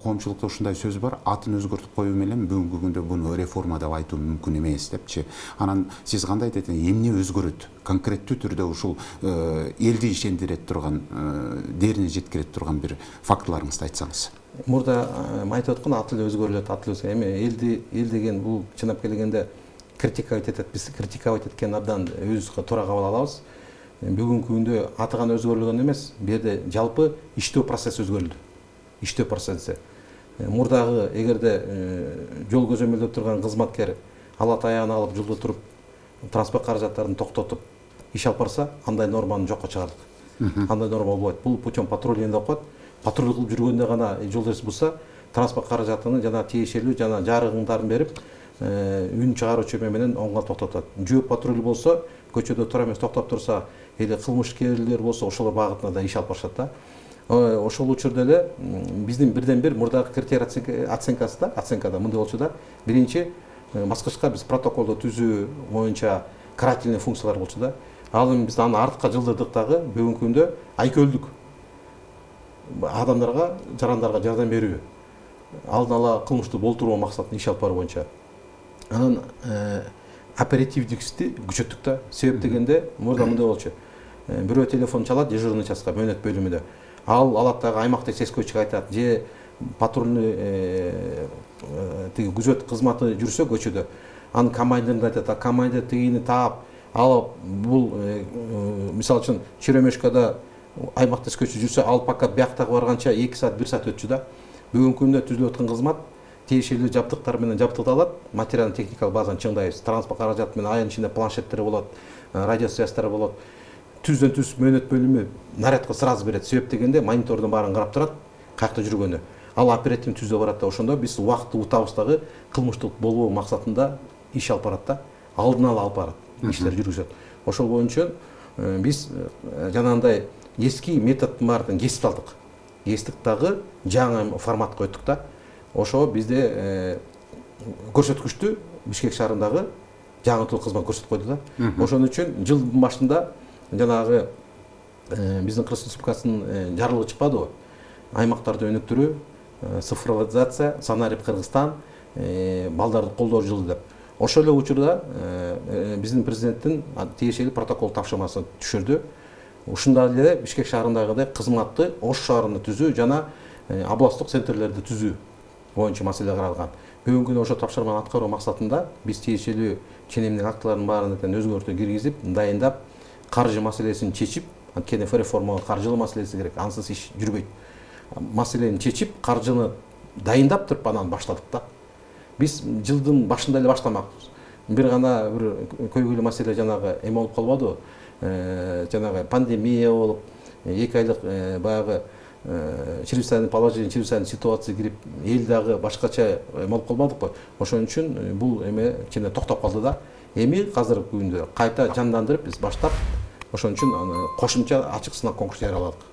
Коомчулукта ушундай сөз бар, атын өзгөртүп коюу менен бүгүнкү күндө буну реформа деп айтуу мүмкүн эмес депчи. Анан сиз кандай айтат элеңиз, эмне өзгөрөт? Конкреттүү түрдө ушул элди ишендире турган, дээрине жеткире турган бир фактыларыңызды айтсаңыз. Мурда айтып аткан ат эле өзгөрүлөт, ат эле өзгөрөт. Эми эл деген бул чынап келгенде критиковать этет. Биз критиковать эткенди абдан өзүбүзгө туура кабыл алабыз. Бүгүнкү күндө аты гана өзгөрүлгөн эмес, бу жерде жалпы иштөө процесси өзгөрүлдү. Иштөө процесси. Мурдагы эгерде жол көзөмөлдөп турган кызматкер ала таягын алып жолдо туруп транспорт каражаттарын токтотуп иш алып барса, андай норманы жокко чыгардык. Андай норма болбойт. Бул путем патрулинг деп коет. Патруль кылып жүргөндө гана жол эреси бузса, транспорт каражатыны жана тиешелүү жана жарыгыңдарын берип, үн чыгаруучу менен оңго токтотот. Жөө патруль болсо, көчөдө тура эмес токтоп турса, эле кылмышкерлер болсо, ошолор багытында да иш алып барышат да. Ошол учурда эле биздин бирден бир мурдагы критерий оценкада мындай болчу да. Биринчи баскычка биз протоколду түзүү боюнча карательный функциялар болчу да. Ал эми биз аны артка жылдырдык дагы бүгүнкү күндө айкөлдүк адамдарга, жарандарга жардам берүү, алдын ала кылмышты болтуруу максатында иш алып баруу боюнча. Анан оперативдикти күчөттүк да. Себеп дегенде мурда мындай болчу. Бирөө телефон чалат дежурный частка, мөөнөт бөлүмүндө. Ал алат дагы аймактык сескочуга айтат, же патрульный тиги күзөт кызматы жүрсө көчөдө, анын командирин айтат, командир тигини таап, алып бул мисалы үчүн Черемешкада аймактык сескочу жүрсө, ал пока бияктагы барганча 2 саат 1 саат өтчү да. Бүгүнкү күндө түзүлүп аткан кызмат тиешелүү жабдыктар менен жабдыкталат, материалдык техникалык базаны чыңдайбыз. Транспорт каражаты менен айын ичинде планшеттер болот, радиосвязьтар болот. Түздөн түз мөөнөт бөлүмү нарядка сразу берет. Себеп дегенде монитордун баарын карап турат, каякта жүргөнү. Ал оперативдик түздө барат да, ошондо биз убакытты утабыз дагы кылмыштык болбоо максатында иш алып барат да. Алдын ала алып барат, иштер жүргүзөт. Ошол боюнча биз жанагындай эски методдун баарын кесип алдык. Кестик дагы жаңы формат койдук да. Ошо бизде көрсөткүчтү Бишкек шаарындагы жаңыртылуу кызмат көрсөтүп койду да. Ошон үчүн жылдын башында жанагы биздин Кыргыз Республикасынын жарлыгы чыкпадыбы? Аймактарды өнүктүрүү, цифровизация, Санарип Кыргызстан, балдарды колдоо жылы деп. Ошол эле учурда биздин президенттин тиешелүү протокол тапшырмасы түшүрдү. Ушундай эле Бишкек шаарындагыдай кызматты Ош шаарында түзүү жана областтык центрлерди түзүү боюнча маселе каралган. Бүгүнкү күндө ошо тапшырманы аткаруу максатында биз тиешелүү ченемдик актылардын баарын өзгөртүү киргизип, дайындап, каржы маселесин чечип, анткени реформага каржылуу маселеси керек, ансыз иш жүрбөйт. Маселени чечип, каржыны дайындап туруп анан баштадык да. Биз жылдын башында эле баштамакпыз. Бир гана бир көйгөйлүү маселе жанагы эме болуп калбадыбы? Жанагы пандемия болуп, 2 айлык баягы чрезвычайный положение, чрезвычайный ситуация кирип, эл дагы башкача болуп калбадыкпы? Ошон үчүн бул эме кичине токтоп калды да. Эми азыркы күндө кайта жандандырып биз баштап, ошон үчүн кошумча ачык сынак конкурс жарыяладык.